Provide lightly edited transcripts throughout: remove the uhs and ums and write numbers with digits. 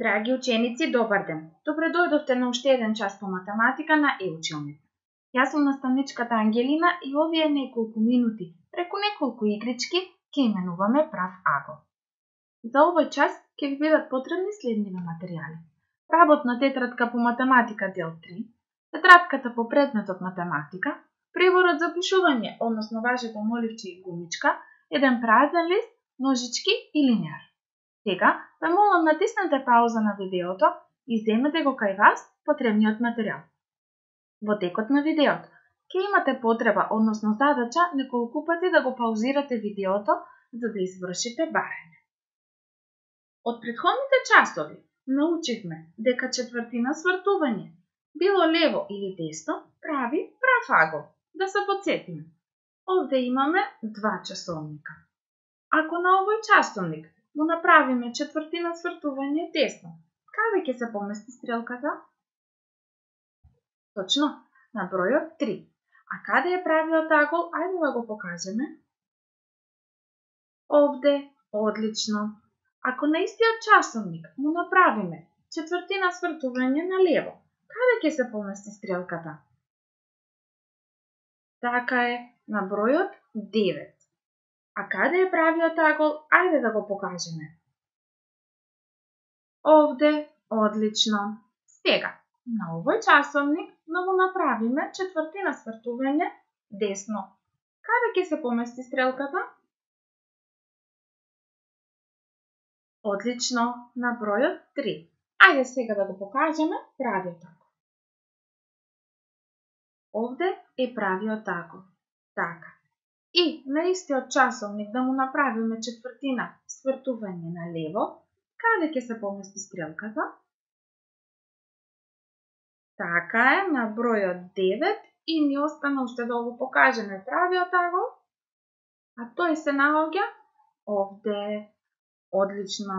Драги ученици, добар ден! Добре дојдовте на уште еден час по математика на Еучилник. Јас сум наставничката Ангелина и овие неколку минути, преку неколку игрички, ќе именуваме прав агол. За овој час ќе ви бидат потребни следниве материјали. Работна тетрадка по математика дел 3, тетрадката по предметот математика, приборот за пишување, односно вашето моливче и гумичка, еден празен лист, ножички и линеар. Сега, ве молам натиснете пауза на видеото и земете го кај вас потребниот материјал. Во текот на видеото ќе имате потреба, односно задача, неколку пати да го паузирате видеото за да извршите барање. Од претходните часови научивме дека четвртина свртување, било лево или десно, прави прав агол. Да се потсетиме. Овде имаме два часовника. Ако на овој часовник му направиме четвртина свртување десно, каде ќе се помести стрелката? Точно, на бројот 3. А каде е правиот агол? Ајде да го покажеме. Овде, одлично. Ако на истиот часовник му направиме четвртина свртување на лево, каде ќе се помести стрелката? Така е, на бројот 9. А каде е правиот агол? Ајде да го покажеме. Овде, одлично. Сега, на овој часовник да му направиме четвртина свртување десно. Каде ќе се помести стрелката? Одлично, на бројот 3. Ајде сега да го покажеме правиот агол. Овде е правиот агол. Така. И на истиот часовник да му направиме четвртина свртување на лево, каде ќе се помести стрелката? Така е, на бројот 9 и ни остана уште да го покажеме правиот агол, а тој се наоѓа овде. Одлично.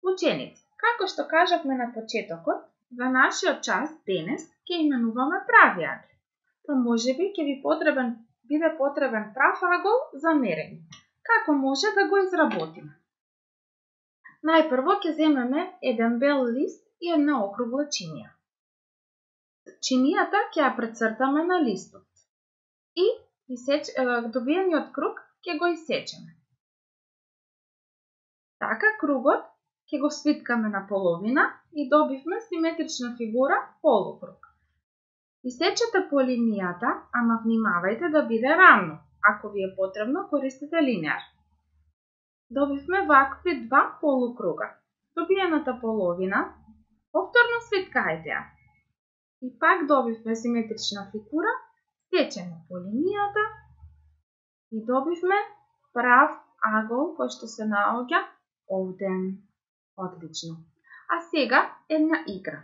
Ученици, како што кажавме на почетокот, за нашиот час денес ќе именуваме прави агол. Па можеби ќе ви биде потребен прав агол за мерење. Како може да го изработиме? Најпрво ќе земеме еден бел лист и една округла чинија. Чинијата ќе ја прецртаме на листот и добиениот круг ќе го исечеме. Така кругот ќе го свиткаме на половина и добивме симетрична фигура полукруг. Исечете по линијата, ама внимавајте да биде рамно. Ако ви е потребно, користете линеар. Добивме вакви два полукруга. Добиената половина, повторно свиткајте ја. И пак добивме симетрична фигура, сечеме по линијата и добивме прав агол кој што се наоѓа овде. Одлично. А сега една игра.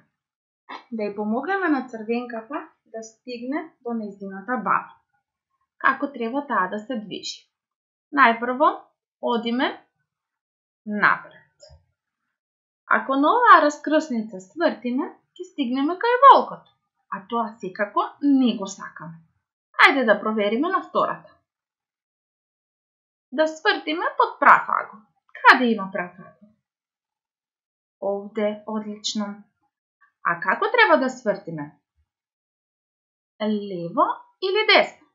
Да ја помогнеме на црвенката да стигне до нејзината баба. Како треба таа да се движи? Најпрво, одиме напред. Ако на оваа раскрсница свртиме, ќе стигнеме кај волкот, а тоа секако не го сакаме. Ајде да провериме на втората. Да свртиме под прав агол. Каде има прав агол? Овде, одлично. А како треба да свртиме? Лево или десно?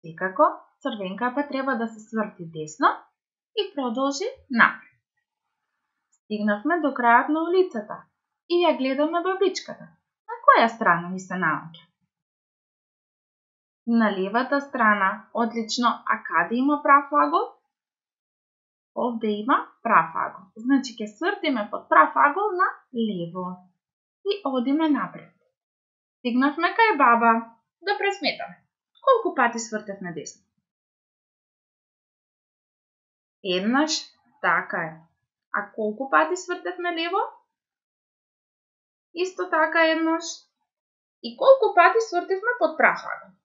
Секако, црвенката треба да се сврти десно и продолжи напред. Стигнавме до крајот на улицата и ја гледаме бабичката. На која страна ни се наоѓа? На левата страна. Одлично. А каде има прав агол? Овде има прав агол. Значи ќе свртиме под прав агол на лево. И одиме напред. Стигнавме кај баба. Да пресметаме. Колку пати свртевме десно? Еднаш, така е. А колку пати свртевме лево? Исто така еднаш. И колку пати свртевме под прав агол?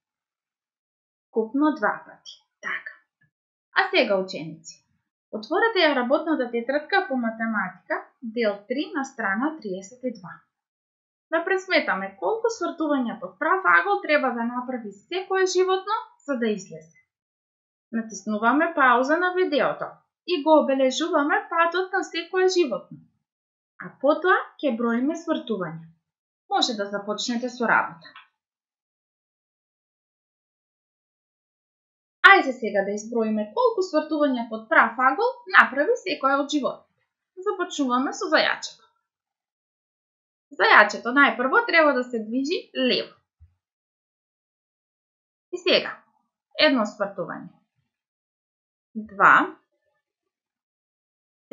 Купно 2 пати. Така. А сега, ученици, отворете ја работната тетрадка по математика, дел 3 на страна 32. Да пресметаме колку свртувања под прав агол треба да направи секое животно за да излезе. Натиснуваме пауза на видеото и го обележуваме патот на секое животно. а потоа ќе броиме свртувања. Може да започнете со работа. Ајде сега да изброиме колку свртувања под прав агол направи секоја од животните. Започнуваме со зајачето. Зајачето најпрво треба да се движи лево. И сега, едно свртување. 2,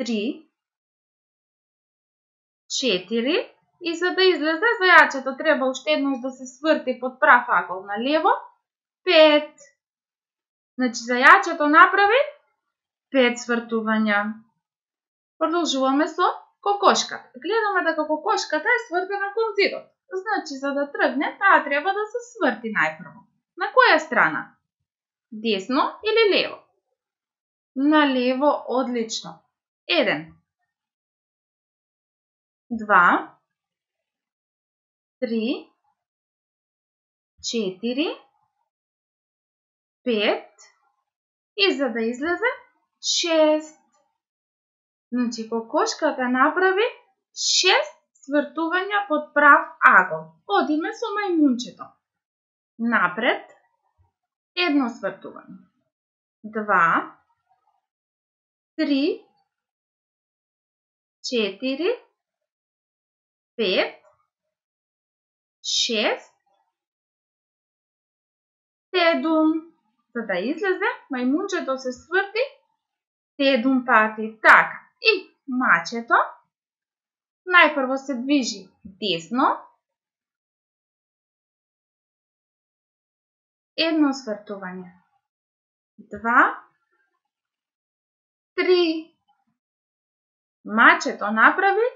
3, 4 и за да излезе зајачето треба уште еднаш да се сврти под прав агол на лево. 5. Значи зајачето направи 5 свртувања. Продолжуваме со кокошката. Гледаме дека кокошката е свртена кон зидот. Значи за да тргне, таа треба да се сврти најпрво. На која страна? Десно или лево? На лево, одлично. 1, 2, 3, 4, 5 и за да излезе 6. Значи кокошката направи 6 свртувања под прав агол. Одиме со мајмунчето. Напред, едно свртување. 2, 3, 4, 5, 6, 7. За да излезе, мајмунчето се сврти 7 пати. Така. И мачето најпрво се движи десно. Едно свртување. 2, 3. Мачето направи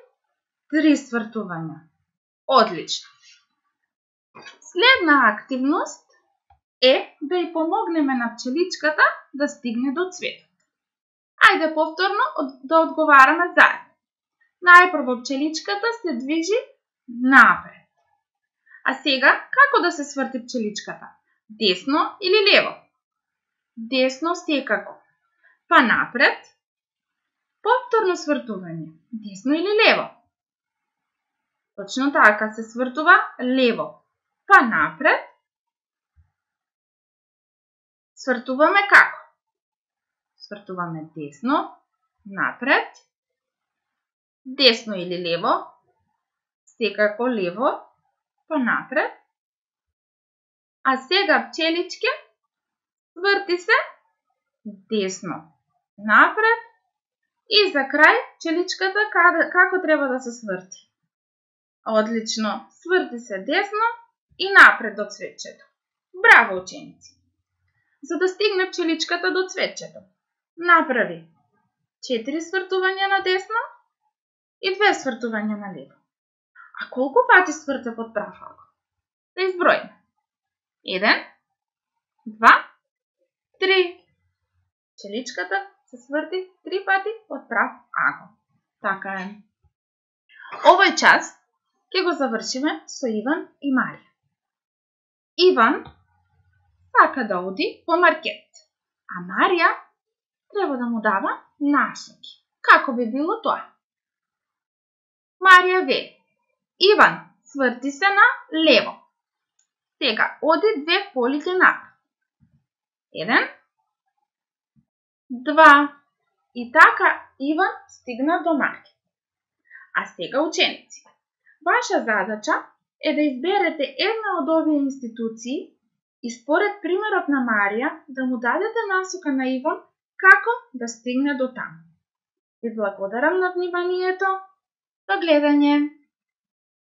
3 свртувања. Одлично. Следна активност е да ја помогнеме на пчеличката да стигне до цветот. Ајде повторно да одговараме заедно. Најпрво пчеличката се движи напред. А сега, како да се сврти пчеличката? Десно или лево? Десно секако. Па напред. Повторно свртување. Десно или лево? Точно така се свртува лево. Па напред. Свртуваме како? Свртуваме десно, напред, десно или лево, секако лево, па напред. А сега пчеличке, сврти се десно, напред и за крај пчеличката како треба да се сврти? Одлично, сврти се десно и напред до цветчето. Браво, ученици! За да стигне пчеличката до цветчето, направи 4 свртувања на десно и 2 свртувања на лево. А колку пати сврте под прав агол? Да изброиме. 1, 2, 3. Пчеличката се сврти 3 пати под прав агол. Така е. Овој час ќе го завршиме со Иван и Марија. Иван сака да оди по маркет, а Марија треба да му дава насоки. Како би било тоа? Марија вели: Иван, сврти се на лево. Сега оди 2 полиќа напред. 1, 2. И така Иван стигна до маркет. А сега, ученици, ваша задача е да изберете една од овие институции и според примерот на Марија да му дадете насока на Иван како да стигне до таму. Ви благодарам на вниманието. До гледање!